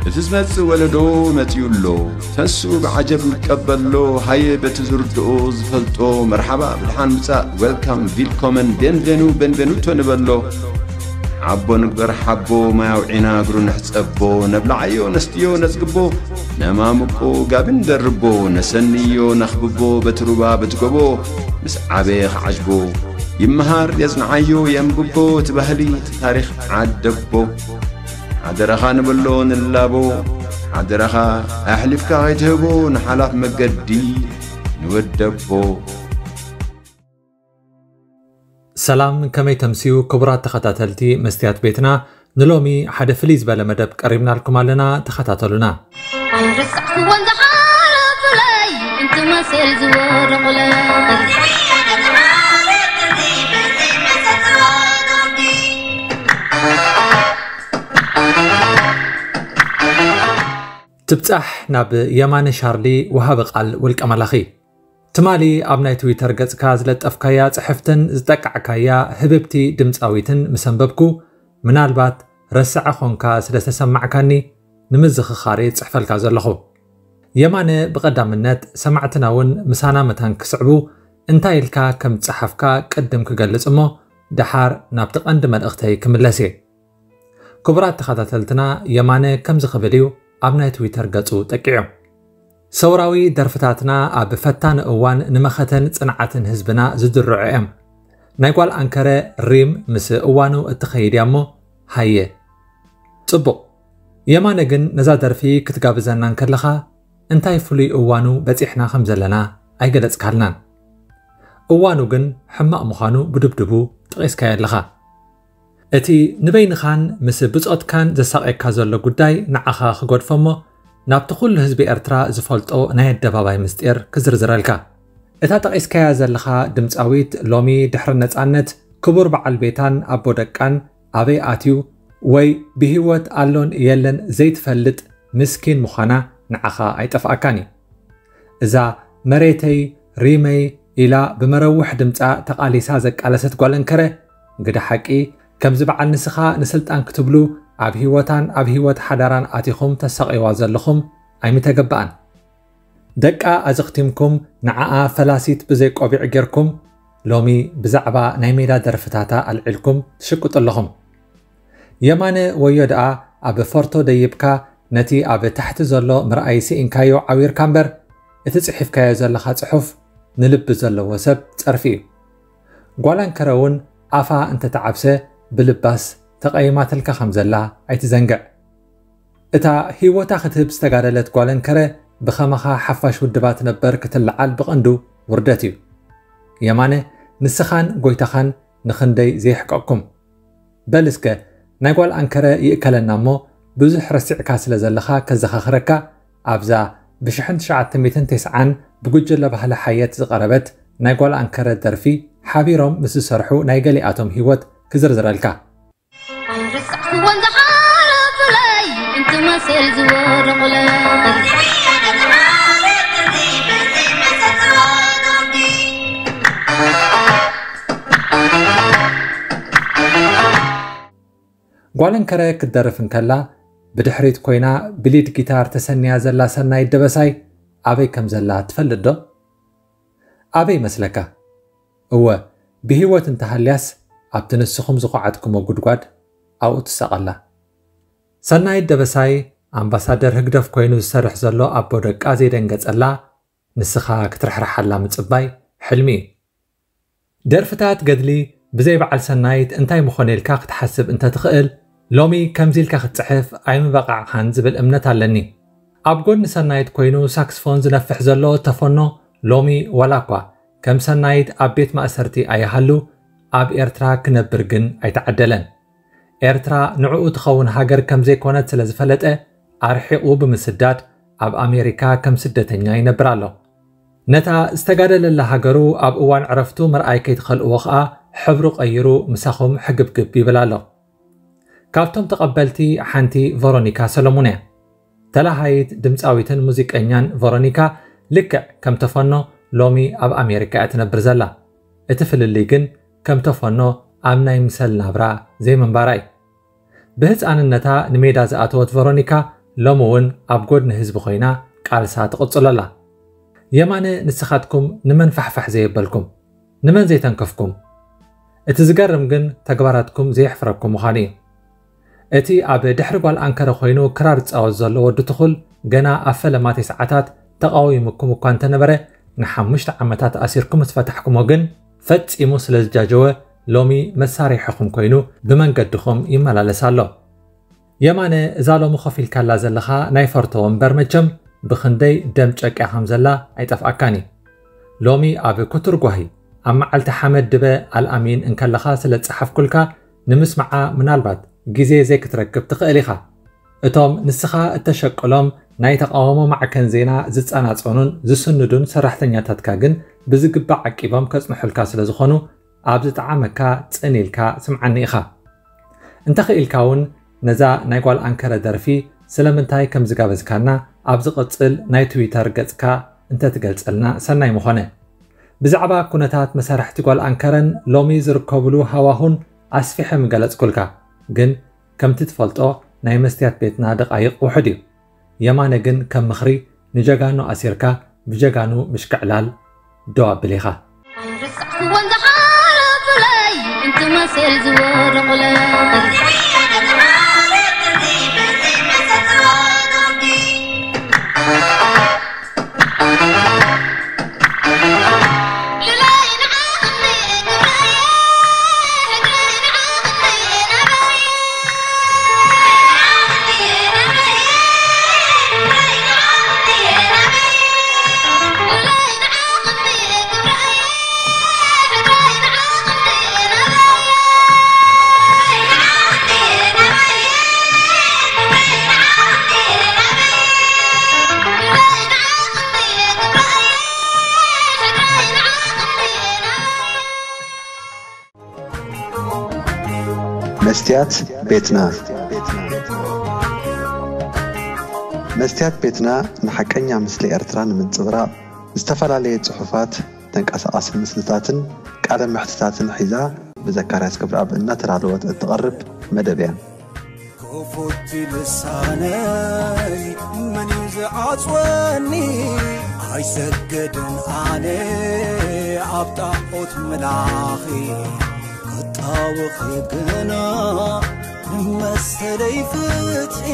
እቲ ዝመጽእ ወለዶ መጺኡ ኣሎ። ተስኡ ብዓጀብ ይቀበሎ። ሃየ በቲ ዝርድኦ ዝፈልጦ መርሓባ ብድሓን ምጻእ፣ ዌልካም፣ ቪልኮመን፣ ቤንቬኑ፣ ቤንቬኑቶ ንበሎ። ሓቦ ንግበር ሓቦ፣ ማይ ኣውዒና እግሩ ንሕጸቦ። ነብልዓዮ ነስትዮ ነጽግቦ፣ ነማምቆ ጋቢ ንደርቦ። ነሰንዮ ነኽብቦ በቲ ሩባ በቲ ጎቦ፣ ምስ ዓበየ ክዓጅቦ። ይመሃር የጽንዓዮ የንብቦ፣ እቲ ባህሊ እቲ ታሪኽ ዓደቦ። ሓደራኻ ንበሎ ንላቦ፣ ሓደራኻ ኣሕሊፍካ ከይትህቦ ንሓላፍ መገዲ ንወደቦ። ሰላም፣ ከመይ ተምስዩ ክቡራት ተኸታተልቲ መስትያት ቤትና? ንሎሚ ሓደ ፍልይ ዝበለ መደብ ቀሪብናልኩም ኣለና፣ ተኸታተሉና። ኣይረሳዕኩዎን ዝሓለፉለይ እንትመስል ዝወደቑለይ። ትብጻሕ ናብ የማነ ሻርሊ፣ ወሃቢ ቃል ውልቀ መላኺ። ትማሊ ኣብ ናይ ትዊተር ገጽካ ዝለጠፍካያ ጽሕፍትን ዝጠቃዕካያ ህብብቲ ድምጻዊትን ምስ ኣንበብኩ፣ ምናልባት ረስዐ ኾንካ ስለ ዝተሰማዕካኒ ንምዝኽኻር እየ ዝጽሕፈልካ ዘለኹ። የማነ ብቐዳምነት ሰማዕትና እውን ምሳና መታን ክስዕቡ እንታይ ኢልካ ከም ዝጸሓፍካ ቅድም ክገልጽ እሞ ደሓር ናብቲ ቀንዲ መልእኽተይ ክምለስ እየ። ክቡራት ተኸታተልትና የማነ ከምዚ ክብል እዩ ኣብ ናይ ትዊተር ገጹ ጠቂዑ። ሰውራዊ ደርፍታትና ኣብ ፈታኒ እዋን ንመኸተን ጽንዓትን ህዝብና ዝድርዑ እዮም። ናይ ጓል ኣንከረ ሪም ምስ እዋኑ እትኸይድ እያ እሞ ሃየ። ጽቡቕ። የማነ ግን ነዛ ደርፊ ክትጋብዘና እንከለኻ እንታይ ፍሉይ እዋኑ በጺሕና ከም ዘለና ኣይገለጽካልናን። እዋኑ ግን ሕማቕ ምዃኑ ብድብድቡ ጠቒስካዮ ኣለኻ። እቲ ንበይንኻን ምስ ብጾትካን ዘሳቕየካ ዘሎ ጉዳይ ንዓኻ ክገድፎ እሞ ናብቲ ኩሉ ህዝቢ ኤርትራ ዝፈልጦ ናይ ኣደባባይ ምስጢር ክዝርዝረልካ። እታ ጠቒስካያ ዘለኻ ድምጻዊት ሎሚ ድሕሪ ነጻነት ክቡር በዓል ቤታን ኣቦ ደቃን ኣበይ ኣትዩ ወይ ብህይወት ኣሎን የለን ዘይትፈልጥ ምስኪን ምዃና ንዓኻ ኣይጠፍኣካን እዩ። እዛ መሬተይ ሪመይ ኢላ ብመረውሕ ድምጻ ተቓሊሳ ዘቃለሰት ጓል እንከረ፣ ግደ ሓቂ ከምዚ በዓል ንስኻ ንስልጣን ክትብሉ ኣብ ህይወታን ኣብ ህይወት ሓዳራን ኣቲኹም ተሳቕይዋ ዘለኹም ኣይምተገበኣን። ደቃ ኣዘኽቲምኩም ንዓኣ ፈላሲት ብዘይ ቆቢዕ ጌርኩም ሎሚ ብዛዕባ ናይ ሜዳ ደርፍታታ ኣልዒልኩም ትሽቅጡ ኣለኹም። የማነ ወዮ ደኣ ኣብ ፎርቶ ደይብካ ነቲ ኣብ ታሕቲ ዘሎ ምርኣይ ስኢንካዮ ዓዊርካ እምበር እቲ ጽሒፍካዮ ዘለኻ ጽሑፍ ንልቢ ዘለዎ ሰብ ጸርፊ እዩ። ጓል ኣንከረ እውን ኣፋ እንተተዓብሰ ብልባስ ተቐይማትልካ ከም ዘላ ኣይትዘንግዕ። እታ ህይወታ ክትህብ ዝተጋደለት ጓል ኣንከረ ብኸማኻ ሓፋሽ ውድባት ነበር ክትለዓል ብቐንዱ ውርደት እዩ። የማነ ንስኻን ጎይታኻን ንኽንደይ ዘየሕቀቕኩም። በል እስከ ናይ ጓል ኣንከረ ይእከለና እሞ ብዙሕ ረሲዕካ ስለ ዘለኻ ከዘኻኽረካ ኣብዛ ብሽሕን ትሽዓተ ሚእትን ተስዓን ብጉጅለ ባህሊ ሓየት ዝቐረበት ናይ ጓል ኣንከረ ደርፊ ሓቢሮም ምስ ዝሰርሑ ናይ ገሊኣቶም ህይወት ክዝርዝረልካ። ኣይረሳዕኩዎን ዝሓለፉለይ እንትመስል ዝወደቑለይ። ጓል እንከረ ክትደርፍ እንከላ ብድሕሪት ኮይና ብሊድ ጊታር ተሰንያ ዘላ ሰናይት ደበሳይ ኣበይ ከም ዘላ ትፈልጥ ዶ? ኣበይ መስለካ? እወ፣ ብህይወት እንተሃልያስ ኣብቲ ንስኹም ዝኹዓትኩሞ ጉድጓድ ኣብኡ ትሳቐላ። ሰናይት ደበሳይ ኣምባሳደር ህግደፍ ኮይኑ ዝሰርሕ ዘሎ ኣቦ ደቃ ዘይደንገጸላ ንስኻ ክትርሕርሓላ ምጽባይ ሕልሚ እዩ። ደርፍታት ገድሊ ብዘይ በዓል ሰናይት እንታይ ምኾነ ኢልካ ክትሓስብ እንተትኽእል ሎሚ ከምዚ ኢልካ ክትጽሕፍ ኣይምበቓዕኻን ዝብል እምነት ኣለኒ። ኣብ ጎኒ ሰናይት ኮይኑ ሳክስፎን ዝነፍሕ ዘሎ ተፈኖ ሎሚ ዋላ እኳ ከም ሰናይት ኣብ ቤት ማእሰርቲ ኣይሃሉ ኣብ ኤርትራ ክነብር ግን ኣይተዓደለን። ኤርትራ ንዕኡ ትኸውን ሃገር ከም ዘይኮነት ስለ ዝፈለጠ ኣርሒቑ ብምስዳድ ኣብ ኣሜሪካ ከም ስደተኛ ይነብር ኣሎ። ነታ ዝተጋደለላ ሃገሩ ኣብ እዋን ዕረፍቱ ምርኣይ ከይትኸልእዎ ኸኣ ሕብሩ ቀይሩ ምሳኹም ሕግብግብ ይብል ኣሎ። ካብቶም ተቐበልቲ ሓንቲ ቨሮኒካ ሰሎሙን እያ። ተላሃይት ድምፃዊትን ሙዚቀኛን ቨሮኒካ ልክዕ ከም ተፈኖ ሎሚ ኣብ ኣሜሪካ እያ ትነብር ዘላ። እቲ ፍልልይ ግን ከም ተፈኖ ኣብ ናይ ምሰል ናብራ ዘይምንባራ እዩ። ብህፃንነታ ንሜዳ ዝኣተወት ቨሮኒካ ሎሚ እውን ኣብ ጎድኒ ህዝቢ ኮይና ቃልሳ ትቕጽሎ ኣላ። የማነ፣ ንስኻትኩም ንመን ፋሕፋሕ ዘየበልኩም፣ ንመን ዘይተንከፍኩም? እቲ ዝገርም ግን ተግባራትኩም ዘየሕፍረኩም ምዃኑ እዩ። እቲ ኣብ ድሕሪ ጓል ኣንከረ ኮይኑ ክራር ዝጻወት ዘሎ ወዲ ትኹል ገና ኣብ ፈለማት ሰዓታት ተቓዊሙኩም እኳ እንተነበረ፣ ንሓሙሽተ ዓመታት ኣሲርኩም ምስ ፈታሕኩሞ ግን ፈጺሙ ስለ ዝጃጀወ ሎሚ መሳርሒኹም ኮይኑ ብመንገድኹም ይመላለስ ኣሎ። የማነ፣ እዛ ሎሚ ኮፍ ኢልካላ ዘለኻ ናይ ፈርቶ ወንበር መቸም ብኽንደይ ደም ጨቂያ ከም ዘላ ኣይጠፍኣካን እዩ። ሎሚ ኣብ ኩቱር ጓሂ ኣብ መዓልቲ ሓመድ ድበ ኣልኣሚን እንከለኻ ስለ ዝጸሓፍኩልካ ንምስማዓ ምናልባት ግዜ ዘይክትረክብ ትኽእል ኢኻ። እቶም ንስኻ እተሸቅሎም ናይ ተቓውሞ ማዕከን ዜና ዝጸናጸኑን ዝስንዱን ሰራሕተኛታትካ ግን ብዝግባእ ዓቂቦም ከጽንሑልካ ስለ ዝኾኑ ኣብ ዝጠዓመካ ጽን ኢልካ ስምዓኒ ኢኻ። እንተኽኢልካ እውን ነዛ ናይ ጓል ኣንከረ ደርፊ ስለምንታይ ከም ዝጋበዝካና ኣብ ዝቕጽል ናይ ትዊተር ገጽካ እንተትገልጸልና ሰናይ ምኾነ። ብዛዕባ ኩነታት መሳርሕቲ ጓል ኣንከረን ሎሚ ዝርከብሉ ሃዋሁን ኣስፊሐ ምገለጽኩልካ፣ ግን ከምቲ ትፈልጦ ናይ መስትያት ቤትና ደቓይቕ ውሑድ እዩ። የማነ ግን ከም ምኽሪ ንጀጋኑ ኣሲርካ ብጀጋኑ ምሽክዕላል ደው ኣብል ኢኻ። ኣይረሳዕኩዎን ዝሓለፉለይ እንትመስል ዝወረቑለይ። መስትያት ቤትና። መስትያት ቤትና ንሓቀኛ ምስሊ ኤርትራ ንምንጽብራቕ ዝተፈላለየ ጽሑፋት፣ ተንቀሳቓሲ ምስልታትን ቃለ መሕትታትን ሒዛ ብዘካርያስ ክብረኣብ እናተዳለወት እትቐርብ መደብ እያ። ክፉት ልሳነይ መን እዩ ዝዓጽወኒ? ኣይሰገድን ኣነ ኣብ ጣዖት ምላኺ፣ ክጣወኺ ግና ንመሰለይ ፍትሒ።